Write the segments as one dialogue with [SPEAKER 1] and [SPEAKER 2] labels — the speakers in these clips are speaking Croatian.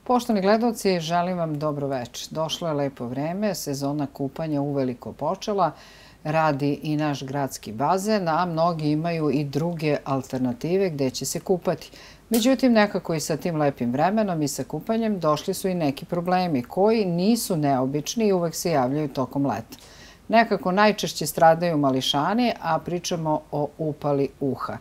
[SPEAKER 1] Poštovani gledalci, želim vam dobro večer. Došlo je lepo vreme, sezona kupanja uveliko počela. Radi i naš gradski bazen, a mnogi imaju i druge alternative gde će se kupati. Međutim, nekako i sa tim lepim vremenom i sa kupanjem došli su i neki problemi koji nisu neobični i uvek se javljaju tokom leta. Nekako najčešće stradaju mališani, a pričamo o upali uha.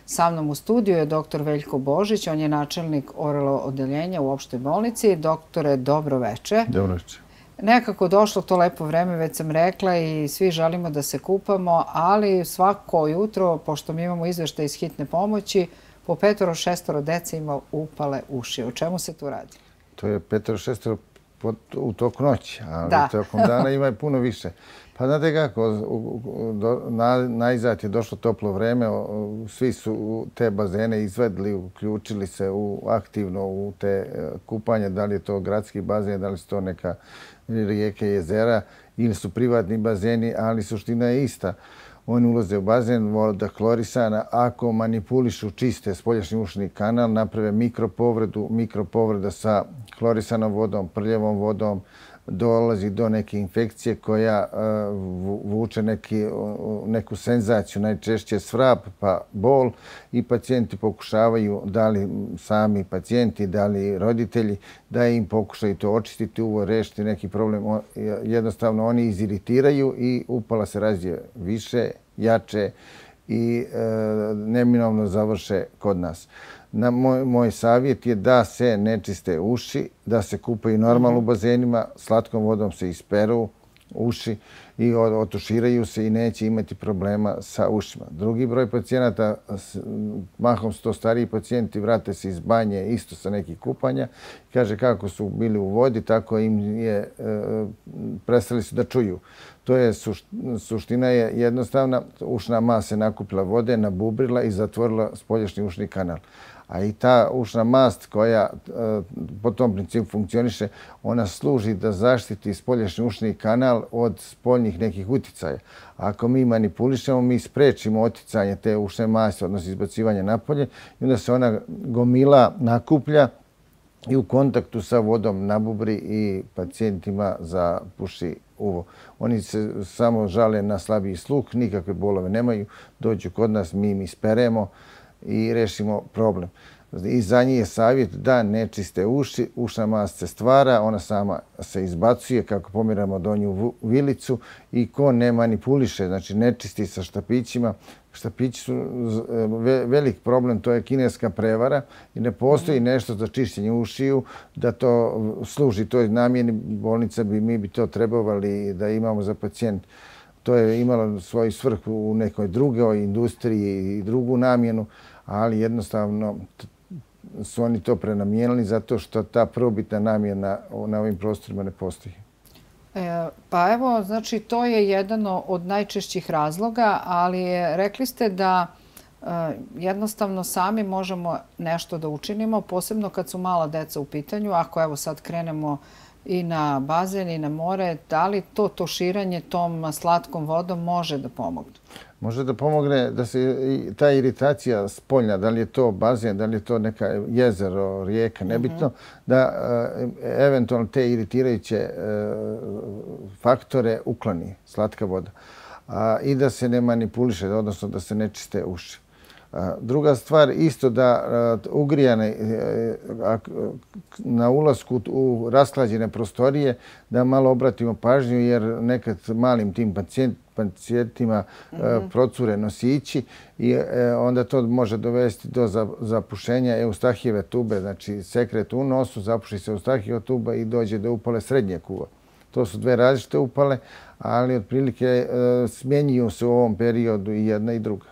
[SPEAKER 1] Sa mnom u studiju je dr. Veljko Božić, on je načelnik oralo odeljenja u opštoj bolnici. Doktore, dobro veče.
[SPEAKER 2] Dobro veče. Nekako
[SPEAKER 1] došlo to lepo vreme, već sam rekla, i svi želimo da se kupamo, ali svako jutro, pošto mi imamo izveštaj iz hitne pomoći, po 5-6 dece ima upale uši. O čemu se tu radi?
[SPEAKER 2] To je 5-6 u toku noći, ali tokom dana ima puno više. Pa znate kako, najzad je došlo toplo vreme, svi su te bazene izvedli, uključili se aktivno u te kupanje, da li je to gradski bazen, da li su to neka rijeke, jezera ili su privatni bazeni, ali suština je ista. Oni ulaze u bazen, voda klorisana, ako manipulišu čiste spoljašnji ušni kanal, naprave mikropovreda sa klorisanom vodom, prljavom vodom, dolazi do neke infekcije koja vuče neku senzaciju, najčešće svrab pa bol, i pacijenti pokušavaju, da li sami pacijenti, da li roditelji, da im pokušaju to očistiti, rešiti neki problem. Jednostavno oni iziritiraju i upala se razvije više, jače i neminovno završe kod nas. Moj savjet je da se ne čiste uši, da se kupaju normalno u bazenima, slatkom vodom se isperu uši i otuširaju se i neće imati problema sa ušima. Drugi broj pacijenata, mahom su to stariji pacijenti, vrate se iz banje isto sa nekih kupanja. Kaže kako su bili u vodi, tako im je, prestali su da čuju. To je suština je jednostavna, ušna mast se nakupila vode, nabubrila i zatvorila spoljašnji ušni kanal. A i ta ušna mast koja po tom principu funkcioniše, ona služi da zaštiti spoljašnji ušni kanal od spoljnih nekih uticaja. Ako mi manipulišemo, mi sprečimo oticanje te ušne masti, odnosno izbacivanje napolje, i onda se ona gomila, nakuplja i u kontaktu sa vodom nabubri i pacijentima zapuši uvo. Oni se samo žale na slabiji sluh, nikakve bolove nemaju, dođu kod nas, mi im isperemo i rešimo problem. I za njih je savjet da ne čiste uši, ušna mast se stvara, ona sama se izbacuje kako pomiramo donju vilicu, i ko ne manipuliše, znači ne čisti sa štapićima. Štapići su velik problem, to je kineska prevara i ne postoji nešto za čišćenje ušiju da to služi toj namjeni. Bolnica mi bi to trebali da imamo za pacijent. To je imalo svoju svrhu u nekoj drugoj industriji i drugu namjenu, ali jednostavno su oni to prenamijenili zato što ta prvobitna namjena na ovim prostorima ne postoji.
[SPEAKER 1] Pa evo, znači to je jedan od najčešćih razloga, ali rekli ste da jednostavno sami možemo nešto da učinimo, posebno kad su mala deca u pitanju. Ako evo sad krenemo i na bazen i na more, da li to tuširanje tom slatkom vodom može da pomogne?
[SPEAKER 2] Može da pomogne da se ta iritacija spoljna, da li je to bazen, da li je to neka jezero, rijeka, nebitno, da eventualno te iritirajuće faktore ukloni slatka voda i da se ne manipuliše, odnosno da se ne čiste uši. Druga stvar, isto da ugrijane na ulasku u rashlađene prostorije, da malo obratimo pažnju, jer nekad malim tim pacijentima procure nosići i onda to može dovesti do zapušenja eustahijeve tube, znači sekret u nosu, zapuši se eustahijeva tuba i dođe do upale srednjeg uva. To su dve različite upale, ali otprilike smjenjuju se u ovom periodu i jedna i druga.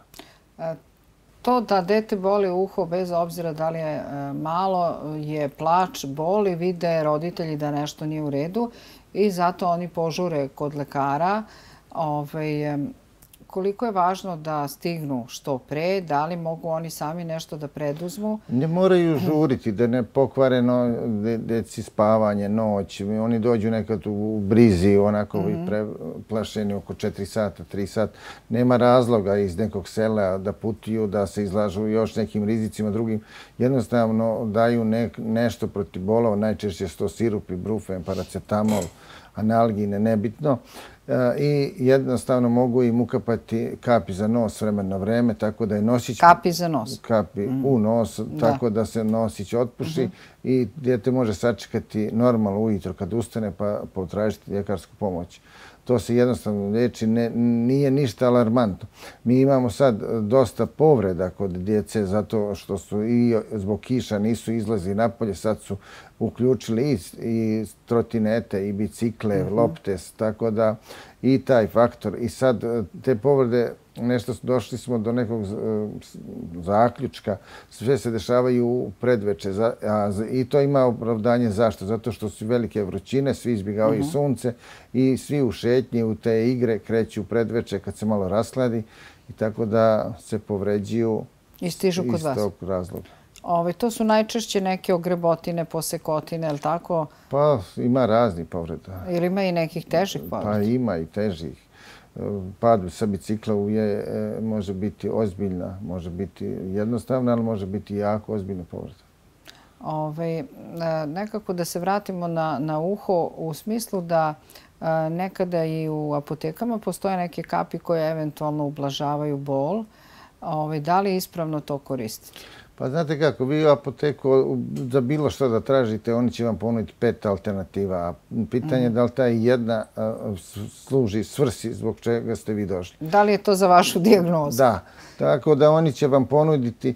[SPEAKER 1] To da dete boli uho, bez obzira da li je malo, je plač, boli, vide roditelji da nešto nije u redu i zato oni požure kod lekara koliko je važno da stignu što pre? Da li mogu oni sami nešto da preduzmu?
[SPEAKER 2] Ne moraju žuriti da ne pokvare deci spavanje, noć. Oni dođu nekad u brizi, onako preplašeni oko 4 sata, 3 sata. Nema razloga iz nekog sela da putuju, da se izlažu još nekim rizicima drugim. Jednostavno daju nešto protiv bolova, najčešće su to sirup, ibuprofen, paracetamol, analgine, nebitno. I jednostavno mogu im ukapati kapi za nos vremena na vreme, tako da je nosić...
[SPEAKER 1] Kapi za nos?
[SPEAKER 2] Kapi u nos, tako da se nosić otpuši i dijete može sačekati normalno ujutro kad ustane pa potražiti ljekarsku pomoć. To se jednostavno liječi, nije ništa alarmantno. Mi imamo sad dosta povreda kod djece zato što su i zbog kiša nisu izlazili napolje, sad su uključili i trotinete i bicikle, lopte, tako da i taj faktor. I sad te povrede, došli smo do nekog zaključka, sve se dešavaju u predveče i to ima opravdanje zašto? Zato što su velike vrućine, svi izbjegavaju sunce i svi u šetnji u te igre kreću u predveče kad se malo rashladi i tako da se povređuju
[SPEAKER 1] iz
[SPEAKER 2] tog razloga.
[SPEAKER 1] To su najčešće neke ogrebotine, posekotine, je li tako?
[SPEAKER 2] Pa ima raznih povreda.
[SPEAKER 1] Ili ima i nekih težih povreda?
[SPEAKER 2] Pa ima i težih. Pad sa bicikla može biti ozbiljna, može biti jednostavna, ali može biti jako ozbiljna povreda.
[SPEAKER 1] Nekako da se vratimo na uho u smislu da nekada i u apotekama postoje neke kapi koje eventualno ublažavaju bol. Da li je ispravno to koristiti?
[SPEAKER 2] Pa znate kako, vi u apoteku za bilo što da tražite, oni će vam ponuditi 5 alternativa. A pitanje je da li ta jedna služi svrsi zbog čega ste vi došli.
[SPEAKER 1] Da li je to za vašu dijagnozu?
[SPEAKER 2] Da, tako da oni će vam ponuditi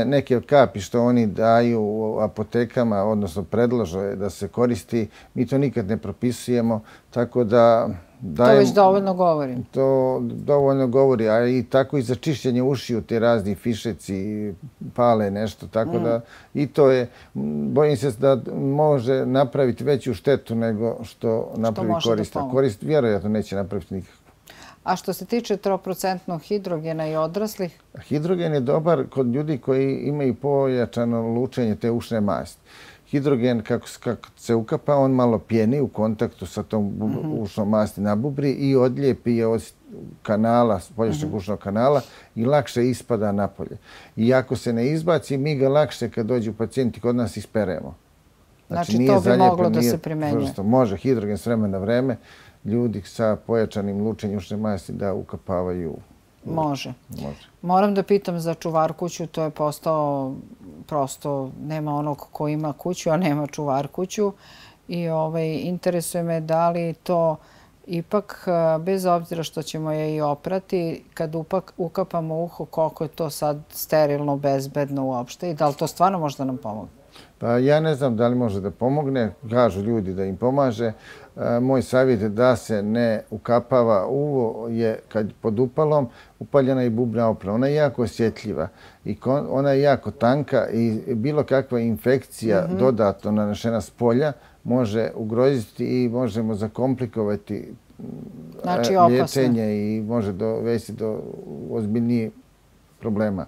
[SPEAKER 2] neke kapi što oni daju u apotekama, odnosno predlažu da se koristi. Mi to nikad ne propisujemo, tako da...
[SPEAKER 1] To već dovoljno govori.
[SPEAKER 2] To dovoljno govori, a i tako i za čišćenje ušiju, te razni fišeci pale nešto, tako da i to je, bojim se da može napraviti veću štetu nego što napravi koristan. Korist vjerojatno neće napraviti nikako.
[SPEAKER 1] A što se tiče 3% hidrogena i odraslih?
[SPEAKER 2] Hidrogen je dobar kod ljudi koji imaju pojačano lučenje te ušne masti. Hidrogen, kako se ukapa, on malo pjeni u kontaktu sa tom ušnom masti na bubri i odlijepi je od kanala, spoljašnjeg ušnog kanala i lakše ispada napolje. I ako se ne izbaci, mi ga lakše kad dođu pacijenti kod nas isperemo.
[SPEAKER 1] Znači to bi moglo da se primenjuje?
[SPEAKER 2] Može hidrogen s vremena na vreme ljudi sa pojačanim lučenjem ušne masti da ukapavaju.
[SPEAKER 1] Može. Moram da pitam za čuvar kuću, to je postao prosto, nema onog ko ima kuću, a nema čuvar kuću. I interesuje me da li to ipak, bez obzira što ćemo je i oprati, kad ukapamo uho, koliko je to sad sterilno, bezbedno uopšte i da li to stvarno može da nam pomogne?
[SPEAKER 2] Pa ja ne znam da li može da pomogne, kažu ljudi da im pomaže. Moj savjet je da se ne ukapava uvo je kad pod upalom upaljena i bubna opra. Ona je jako osjetljiva i ona je jako tanka i bilo kakva infekcija dodatno nanešena s polja može ugroziti i možemo zakomplikovati liječenje i može dovesti do ozbiljnijih problema.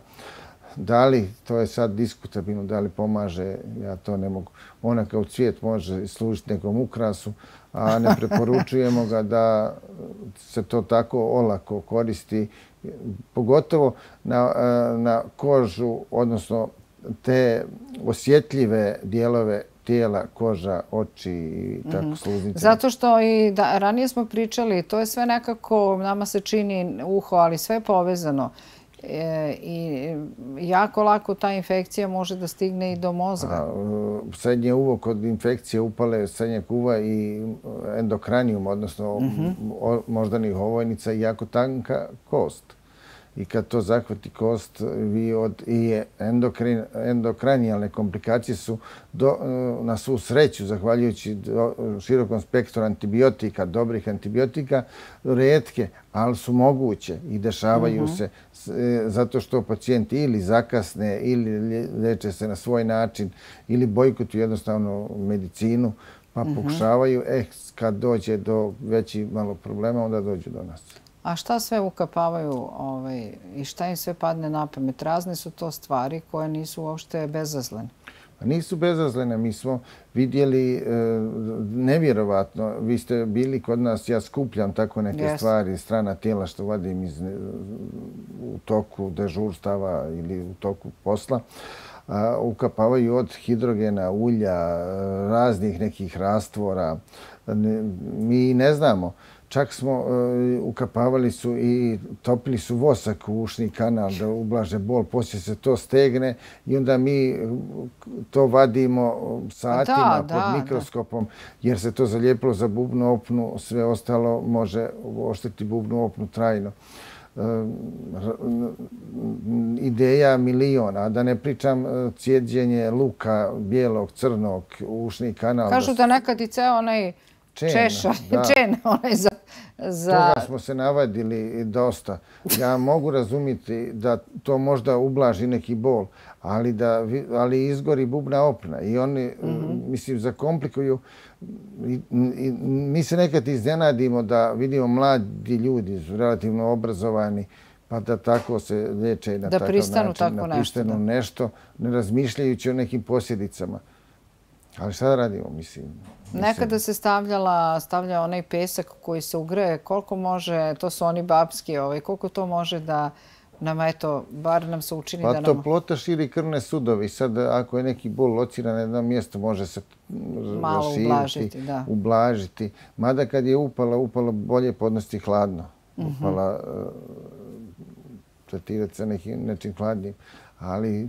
[SPEAKER 2] Da li, to je sad diskutabilno, da li pomaže, ja to ne mogu. Ona kao cvijet može služiti nekom ukrasu, a ne preporučujemo ga da se to tako olako koristi, pogotovo na kožu, odnosno te osjetljive dijelove tijela, koža, oči i tako sluznice.
[SPEAKER 1] Zato što i ranije smo pričali, to je sve nekako, nama se čini uho, ali sve je povezano. I jako lako ta infekcija može da stigne i do mozga.
[SPEAKER 2] Srednje uvo kod infekcije upale srednjeg uva i endokranijum, odnosno moždanih ovojnica, je jako tanka kost. I kad to zahvati kost, i endokranijalne komplikacije su na svu sreću, zahvaljujući širokom spektru antibiotika, dobrih antibiotika, retke, ali su moguće i dešavaju se zato što pacijenti ili zakasne ili leče se na svoj način ili bojkotuju jednostavno medicinu pa pokušavaju, kad dođe do većih malo problema, onda dođu do nas.
[SPEAKER 1] A šta sve ukapavaju i šta im sve padne na pamet? Razne su to stvari koje nisu uopšte bezazlene.
[SPEAKER 2] Nisu bezazlene. Mi smo vidjeli nevjerovatno. Vi ste bili kod nas, ja skupljam tako neke stvari, strana tijela što vadim u toku dežurstava ili u toku posla. Ukapavaju od hidrogena, ulja, raznih nekih rastvora. Mi ne znamo. Čak smo ukapavali su i topili su vosak u ušni kanal da ublaže bol. Poslije se to stegne i onda mi to vadimo satima pod mikroskopom jer se to zalijepilo za bubnu opnu. Sve ostalo može oštetiti bubnu opnu trajno. Ideja miliona, da ne pričam cijeđenje luka, bijelog, crnog, ušni kanal.
[SPEAKER 1] Kažu da nekad i ceo onaj češa, čen, onaj za...
[SPEAKER 2] Toga smo se navadili dosta. Ja mogu razumjeti da to možda ublaži neki bol, ali izgori bubna opna i oni, mislim, zakomplikuju. Mi se nekad iznenadimo da vidimo mladi ljudi, relativno obrazovani, pa da tako se liječe na takav način,
[SPEAKER 1] da pristanu
[SPEAKER 2] nešto, ne razmišljajući o nekim posljedicama. Ali šta da radimo, mislim?
[SPEAKER 1] Nekada se stavlja onaj pesak koji se ugreje. Koliko može, to su oni babski, koliko to može da nam, eto, bar nam se učini da nam...
[SPEAKER 2] Pa toplota širi krvne sudovi. Sad, ako je neki bol lociran na jednom mjestu, može se
[SPEAKER 1] malo
[SPEAKER 2] ublažiti. Mada kad je upalo bolje podnositi hladno. Upala tretirati se nečim hladnim. Ali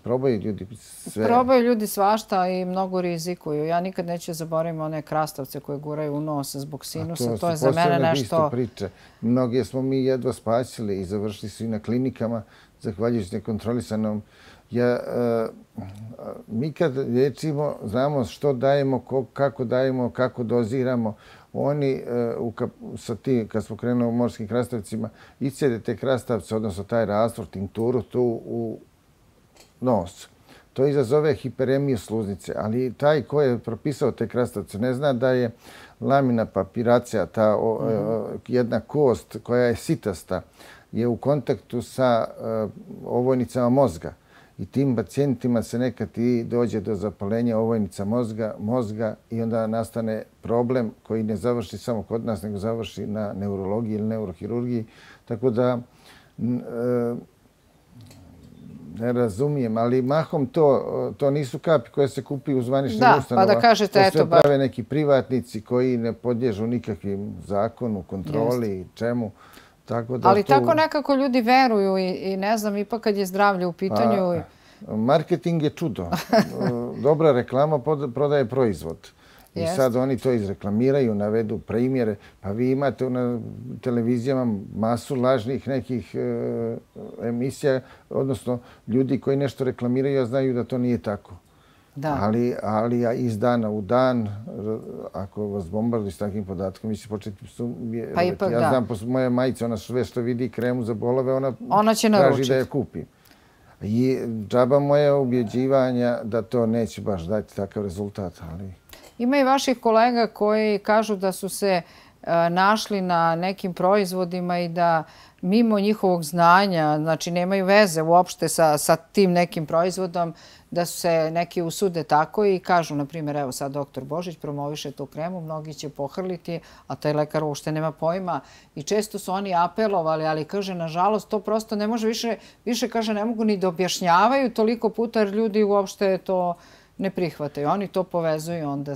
[SPEAKER 2] probaju ljudi sve.
[SPEAKER 1] Probaju ljudi svašta i mnogo rizikuju. Ja nikad neću zaboraviti one krastavce koje guraju u nos zbog sinusa. To je za mene nešto...
[SPEAKER 2] priče. Mnoge smo mi jedva spasili i završili su i na klinikama, zahvaljujući nekontrolisanom. Mi kad liječimo, znamo što dajemo, kako doziramo. Oni, kad smo krenuli u morskim krastavcima, iscijede te krastavce, odnosno taj rastvor, tinkturu, tu u nos. To izazove hiperemiju sluznice, ali taj ko je propisao te krastavce ne zna da je lamina papiracija, ta jedna kost koja je sitasta, je u kontaktu sa ovojnicama mozga. I tim pacijentima se nekad i dođe do zapalenja ovojnica mozga i onda nastane problem koji ne završi samo kod nas, nego završi na neurologiji ili neurohirurgiji. Tako da ne razumijem, ali mahom to nisu kapi koje se kupuju u zvaničnim ustanovama.
[SPEAKER 1] Da, pa da kažete, eto...
[SPEAKER 2] To sve prave neki privatnici koji ne podliježu nikakvim zakonu, kontroli, čemu.
[SPEAKER 1] Ali tako nekako ljudi veruju i ne znam, ipak kad je zdravlje u pitanju...
[SPEAKER 2] Marketing je čudo. Dobra reklama prodaje proizvod. I sad oni to izreklamiraju, navedu primjere. Pa vi imate na televizijama masu lažnih nekih emisija, odnosno ljudi koji nešto reklamiraju, a znaju da to nije tako. Ali iz dana u dan, ako vas bombarduju s takvim podatkom, vi će početi... Ja znam po moje majice, ona sve što vidi kremu za bolove, ona traži da je kupi. I džaba moje ubjeđivanja da to neće baš dati takav rezultat, ali...
[SPEAKER 1] Ima i vaših kolega koji kažu da su se našli na nekim proizvodima i da mimo njihovog znanja, znači nemaju veze uopšte sa tim nekim proizvodom, da su se neki usude tako i kažu, na primjer, evo sad doktor Božić promoviše tu kremu, mnogi će pohrliti, a taj lekar uopšte nema pojma i često su oni apelovali, ali kaže, nažalost, to prosto ne može više kaže, ne mogu ni da objašnjavaju toliko puta jer ljudi uopšte to ne prihvataju. Oni to povezuju onda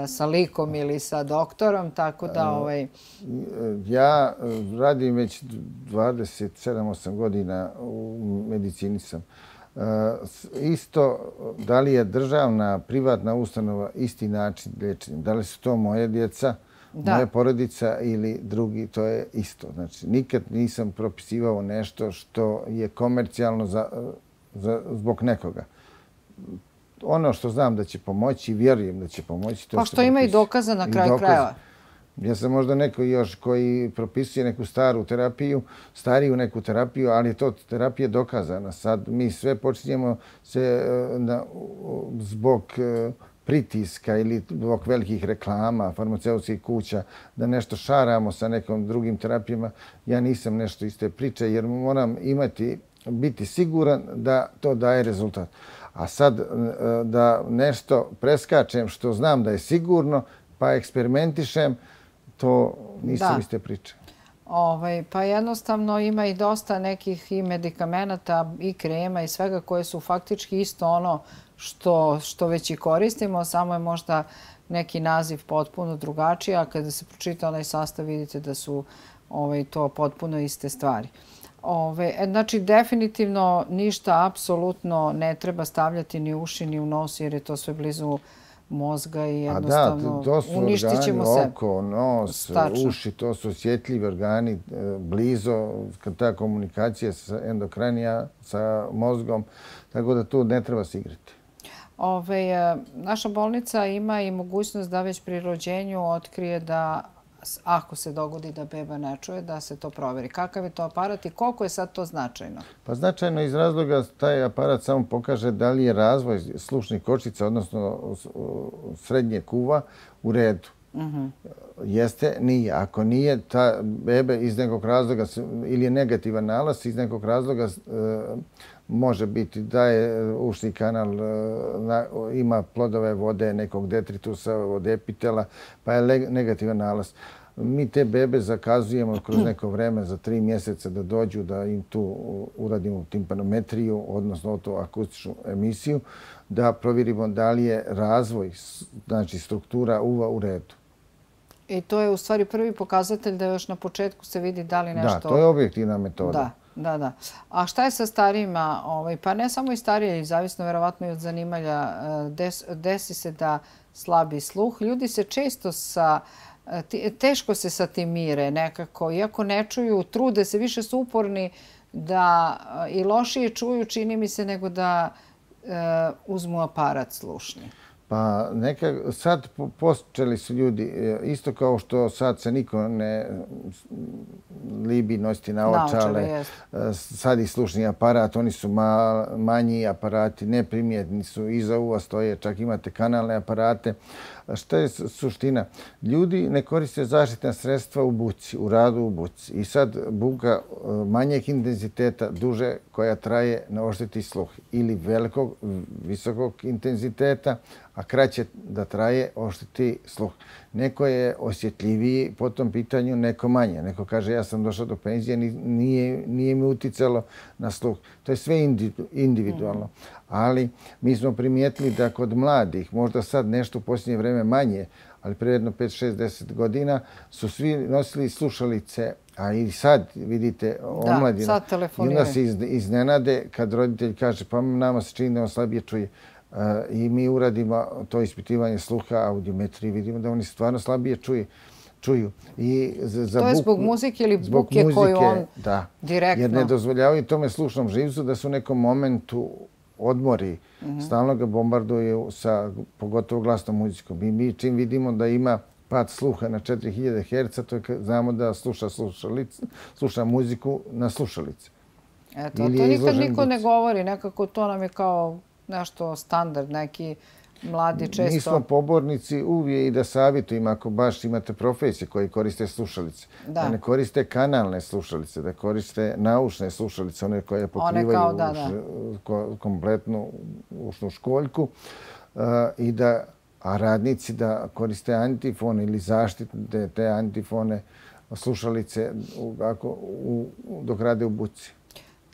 [SPEAKER 1] sa likom ili sa doktorom, tako da...
[SPEAKER 2] Ja radim već 27-8 godina u medicini sam. Isto, da li je državna, privatna ustanova isti način liječenja? Da li su to moje djeca, moja porodica ili drugi, to je isto. Znači, nikad nisam propisivao nešto što je komercijalno zbog nekoga. Ono što znam da će pomoći, vjerujem da će pomoći.
[SPEAKER 1] Pa što ima i dokaza na kraju krajeva.
[SPEAKER 2] Ja sam možda neko još koji propisuje neku staru terapiju, stariju neku terapiju, ali je to terapija dokazana. Sad mi sve počinjemo se zbog pritiska ili zbog velikih reklama, farmaceutskih kuća, da nešto šaramo sa nekom drugim terapijama. Ja nisam nešto iz te priče jer moram biti siguran da to daje rezultat. A sad da nešto preskačem što znam da je sigurno, pa eksperimentišem, to nisam iz te priče.
[SPEAKER 1] Pa jednostavno ima i dosta nekih i medikamenata i krema i svega koje su faktički isto ono što već i koristimo, samo je možda neki naziv potpuno drugačiji, a kada se pročita onaj sastav vidite da su to potpuno iste stvari. Znači, definitivno ništa apsolutno ne treba stavljati ni u uši ni u nos jer je to sve blizu mozga i jednostavno uništit ćemo se.
[SPEAKER 2] Oko, nos, uši, to su osjetljivi organi, blizo, ta komunikacija sa endokrinija, sa mozgom, tako da tu ne treba se igrati.
[SPEAKER 1] Naša bolnica ima i mogućnost da već pri rođenju otkrije da ako se dogodi da beba ne čuje, da se to proveri. Kakav je to aparat i koliko je sad to značajno?
[SPEAKER 2] Pa značajno iz razloga taj aparat samo pokaže da li je razvoj slušnih kočnica, odnosno srednje kuva, u redu. Jeste, nije. Ako nije, ta bebe iz nekog razloga ili je negativan nalaz, iz nekog razloga može biti da je ušni kanal, ima plodove vode, nekog detritusa od epitela, pa je negativan nalaz. Mi te bebe zakazujemo kroz neko vreme za 3 mjeseca da dođu da im tu uradimo timpanometriju, odnosno otoakustičnu emisiju, da provjerimo da li je razvoj, znači struktura uva u redu.
[SPEAKER 1] I to je u stvari prvi pokazatelj da još na početku se vidi da li nešto...
[SPEAKER 2] Da, to je objektivna metoda.
[SPEAKER 1] Da. A šta je sa starijima? Pa ne samo i starije, zavisno verovatno i od zanimanja. Desi se da slabi sluh. Ljudi se često teško se sa tim mire nekako. Iako ne čuju, trude se, više su uporni da i lošije čuju, čini mi se, nego da uzmu aparat slušni.
[SPEAKER 2] Pa sad počeli su ljudi, isto kao što sad se niko ne libi nositi naočale, sad i slušni aparat, oni su manji aparati, neprimjetni su, iza uva stoje, čak imate kanalne aparate. Šta je suština? Ljudi ne koriste zaštitna sredstva u buci, u radu u buci. I sad buka manjeg intenziteta, duže, koja traje, ne ošteti sluh. Ili velikog, visokog intenziteta, a kraće da traje, ošteti sluh. Neko je osjetljiviji po tom pitanju, neko manje. Neko kaže ja sam došao do penzije, nije mi uticalo na sluh. To je sve individualno. Ali mi smo primijetili da kod mladih, možda sad nešto u posljednje vreme manje, ali prije jedno 5, 6, 10 godina su svi nosili slušalice, a i sad vidite omladina. I onda se iznenade kad roditelj kaže pa nama se čini da on slabije čuje. I mi uradimo to ispitivanje sluha, audiometrije, vidimo da oni stvarno slabije čuju.
[SPEAKER 1] To je zbog muzike ili buke koju on direktno...
[SPEAKER 2] Jer ne dozvoljavaju tome slušnom živcu da se u nekom momentu odmori. Stalno ga bombarduju sa pogotovo glasnom muzikom. I mi čim vidimo da ima pad sluha na 4000 Hz, to znamo da sluša muziku na slušalice.
[SPEAKER 1] Eto, to nikad niko ne govori. Nekako to nam je kao nešto standard, neki mladi često...
[SPEAKER 2] Mi smo pobornici uvijek i da savjetujemo ako baš imate profesije koji koriste slušalice. Da ne koriste kanalne slušalice, da koriste naušne slušalice, one koje pokrivaju kompletnu ušnu školjku. A radnici da koriste antifone ili zaštitne te antifone slušalice dok rade u buci.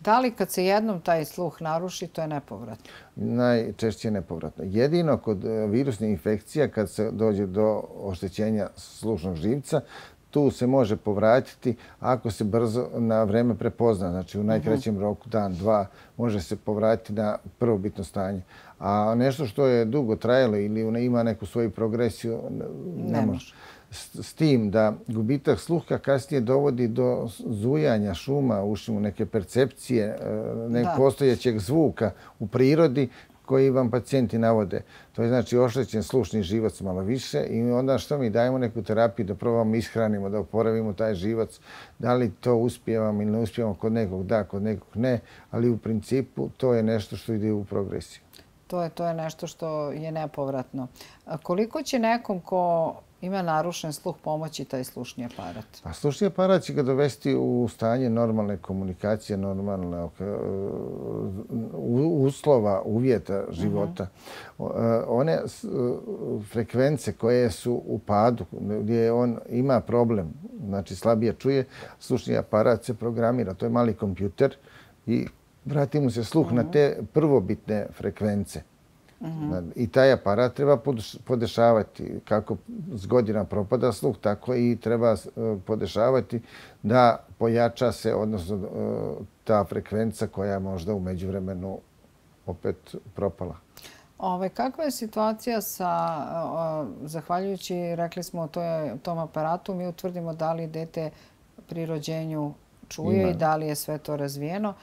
[SPEAKER 1] Da li kad se jednom taj sluh naruši, to je nepovratno?
[SPEAKER 2] Najčešće je nepovratno. Jedino kod virusnih infekcija, kad se dođe do oštećenja slušnog živca, tu se može povratiti ako se brzo na vreme prepozna. Znači u najkraćem roku, dan, dva, može se povratiti na prvobitno stanje. A nešto što je dugo trajalo ili ima neku svoju progresiju, ne može. S tim da gubitak sluha kasnije dovodi do zujanja šuma u ušima, neke percepcije, postojećeg zvuka u prirodi koji vam pacijenti navode. To je znači oštećen slušni živac malo više i onda što mi dajemo neku terapiju da probamo ishranimo, da oporavimo taj živac. Da li to uspijevamo ili ne uspijevamo, kod nekog da, kod nekog ne, ali u principu to je nešto što ide u progresiju.
[SPEAKER 1] To je nešto što je nepovratno. A koliko će nekom ko ima narušen sluh pomoći taj slušni aparat?
[SPEAKER 2] A slušni aparat će ga dovesti u stanje normalne komunikacije, normalne uslova, uvjeta života. One frekvence koje su u padu, gdje on ima problem, znači slabije čuje, slušni aparat se programira. To je mali kompjuter i vrati mu se sluh na te prvobitne frekvence. I taj aparat treba podešavati. Kako s godina propada sluh, tako i treba podešavati da pojača se, odnosno ta frekvenca koja možda u međuvremenu opet propala.
[SPEAKER 1] Kakva je situacija sa, zahvaljujući, rekli smo o tom aparatu, mi utvrdimo da li dete pri rođenju čuje i da li je sve to razvijeno.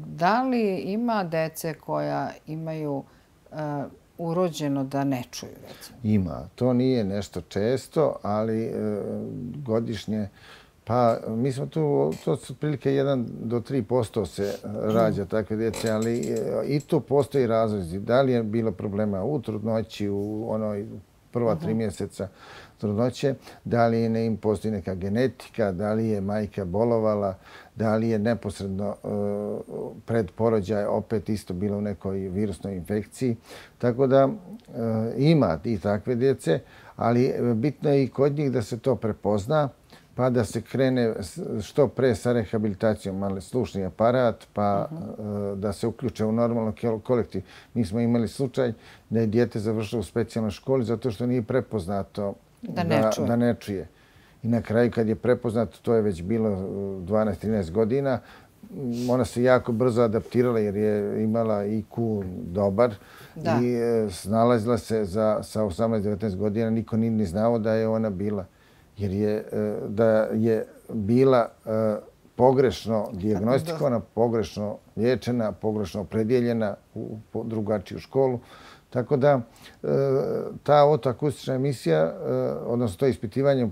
[SPEAKER 1] Da li ima dece koja imaju urođeno da ne čuju, recimo?
[SPEAKER 2] Ima. To nije nešto često, ali godišnje, pa mi smo tu, to su otprilike 1 do 3% se rađa takve djece, ali i tu postoji razlozi. Da li je bilo problema u trudnoći, u onoj prva 3 mjeseca trudnoće, da li ne im postoji neka genetika, da li je majka bolovala, da li je neposredno pred porođaj opet isto bilo u nekoj virusnoj infekciji. Tako da ima i takve djece, ali bitno je i kod njih da se to prepozna, pa da se krene što pre sa rehabilitacijom, ali slušni aparat, pa da se uključe u normalno kolektiv. Mi smo imali slučaj da je dijete završilo u specijalnoj školi zato što nije prepoznato da ne čuje. I na kraju kad je prepoznato, to je već bilo 12-13 godina, ona se jako brzo adaptirala jer je imala IQ dobar i snalazila se sa 18-19 godina. Niko nije ni znao da je ona bila. Jer je bila pogrešno dijagnostikovana, pogrešno liječena, pogrešno opredjeljena u drugačiju školu. Tako da ta otoakustična emisija, odnosno to ispitivanje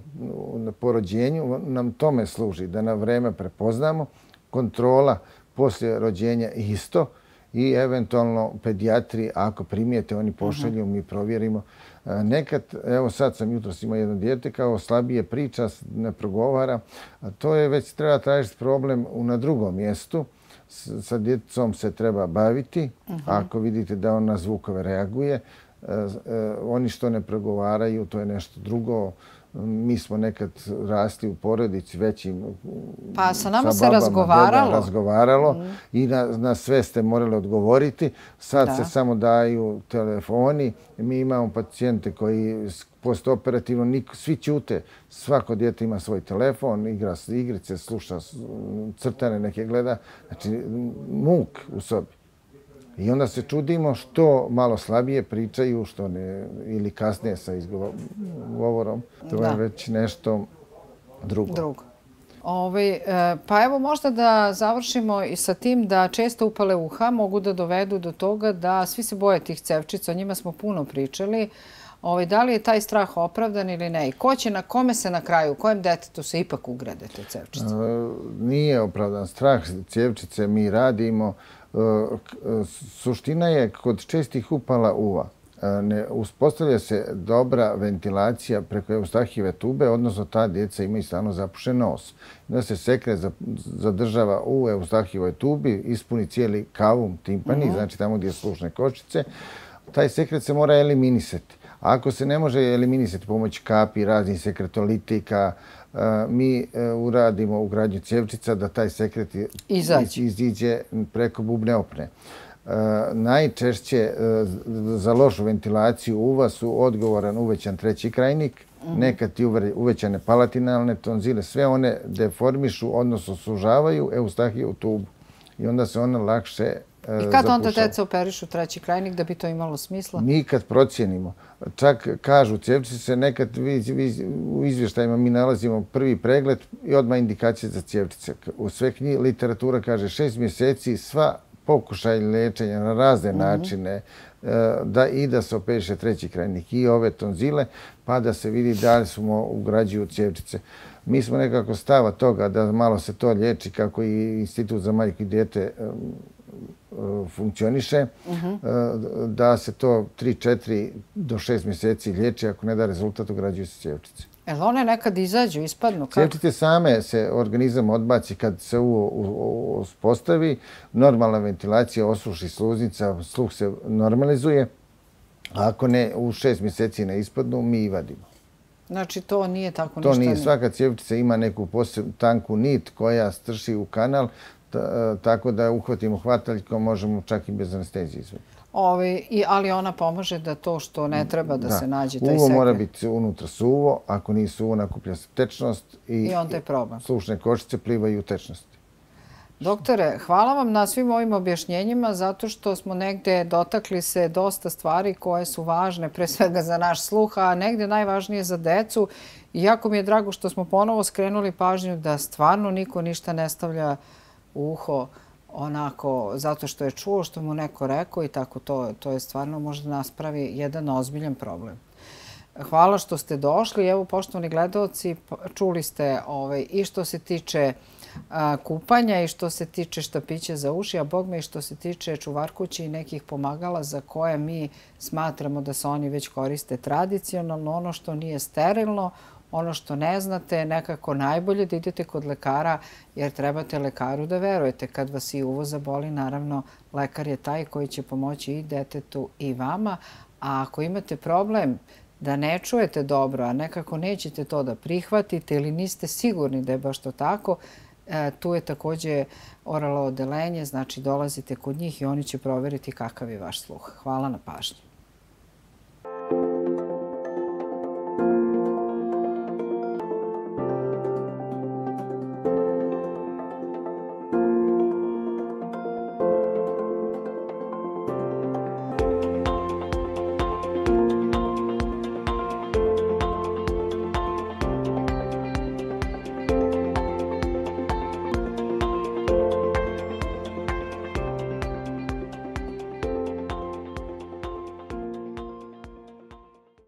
[SPEAKER 2] po rođenju, nam tome služi, da na vreme prepoznamo. Kontrola poslije rođenja isto i eventualno pedijatri, ako primijete, oni pošalju, mi provjerimo. Nekad, evo sad sam jutros imao jedno dijete, kao slabije priča, ne progovara, a to je već treba tražiti problem na drugom mjestu. Sa djecom se treba baviti, ako vidite da on na zvukove reaguje. Oni što ne progovaraju, to je nešto drugo. Mi smo nekad rasli u porodici većim...
[SPEAKER 1] Pa sa nama se razgovaralo.
[SPEAKER 2] Razgovaralo i na sve ste morali odgovoriti. Sad se samo daju telefoni. Mi imamo pacijente koji postoperativno, svi ćute. Svako dijete ima svoj telefon, igra igrice, sluša crtane neke gleda. Znači, muk u sobi. I onda se čudimo što malo slabije pričaju, što ne, ili kasnije sa izgovorom. To je već nešto drugo.
[SPEAKER 1] Pa evo možda da završimo i sa tim da često upale uha mogu da dovedu do toga da svi se boje tih cevčica, o njima smo puno pričali. Da li je taj strah opravdan ili ne? I kome se na kraju, kojem detetu se ipak ugrade te cevčice?
[SPEAKER 2] Nije opravdan strah, cevčice mi radimo. Suština je kod čestih upala uva. Uspostavlja se dobra ventilacija preko eustahive tube, odnosno ta djeca imaju stalno zapušen nos. Da se sekret zadržava u eustahivoj tubi, ispuni cijeli kavum timpani, znači tamo gdje su slušne kočice. Taj sekret se mora eliminisati. Ako se ne može eliminisati pomoć kapi, raznih sekretolitika, mi uradimo ugradnju cjevčica da taj sekret iziđe preko bubne opne. Najčešće za lošu ventilaciju uva su odgovoran uvećan treći krajnik, nekad i uvećane palatinalne tonzile. Sve one deformišu, odnosno sužavaju eustahijevu tubu i onda se ona lakše zapušava.
[SPEAKER 1] I kad onda deca operišu treći krajnik da bi to imalo smisla?
[SPEAKER 2] Mi kad procijenimo. Čak kažu cjevčice, nekad u izvještajima mi nalazimo prvi pregled i odmah indikacije za cjevčice. U sve knjige literatura kaže 6 mjeseci sva pokušaj liječenja na razne načine i da se operiše treći krajnik i ove tonzile, pa da se vidi da li smo ugrađuju cjevčice. Mi smo nekako stava toga da malo se to liječi, kako i Institut za majku i dijete funkcioniše, da se to 3, 4 do 6 mjeseci liječi. Ako ne da rezultat, ugrađuju se cjevčice.
[SPEAKER 1] Jel one nekad izađu, ispadnu?
[SPEAKER 2] Cjevčice same se organizam odbaci kad se uvo uspostavi, normalna ventilacija, osuši sluznica, sluh se normalizuje. A ako ne, u 6 mjeseci ne ispadnu, mi i vadimo.
[SPEAKER 1] Znači, to nije tako ništa?
[SPEAKER 2] To nije. Svaka cjevčica ima neku tanku nit koja strši u kanal, tako da uhvatimo hvataljkom, možemo čak i bez anestezije izvaditi.
[SPEAKER 1] Ali ona pomaže da to što ne treba da se nađe taj sekret.
[SPEAKER 2] Uvo mora biti unutra suvo, ako nije suvo nakuplja se tečnost
[SPEAKER 1] i onda je problem.
[SPEAKER 2] Slušne kočice plivaju u tečnosti.
[SPEAKER 1] Doktore, hvala vam na svim ovim objašnjenjima zato što smo negde dotakli se dosta stvari koje su važne pre svega za naš sluh, a negde najvažnije za decu. I jako mi je drago što smo ponovo skrenuli pažnju da stvarno niko ništa ne stavlja u uho onako zato što je čuo, što mu neko rekao i tako to je stvarno možda nas pravi jedan ozbiljan problem. Hvala što ste došli. Evo, poštovani gledalci, čuli ste i što se tiče kupanja i što se tiče štapića za uši, a bogme i što se tiče čuvarkući i nekih pomagala za koje mi smatramo da se oni već koriste tradicionalno. Ono što nije sterilno, ono što ne znate, nekako najbolje da idete kod lekara jer trebate lekaru da verujete. Kad vas i uvo zaboli, naravno, lekar je taj koji će pomoći i detetu i vama. A ako imate problem da ne čujete dobro, a nekako nećete to da prihvatite ili niste sigurni da je baš to tako, tu je također oralo odelenje, znači dolazite kod njih i oni će proveriti kakav je vaš sluh. Hvala na pažnji.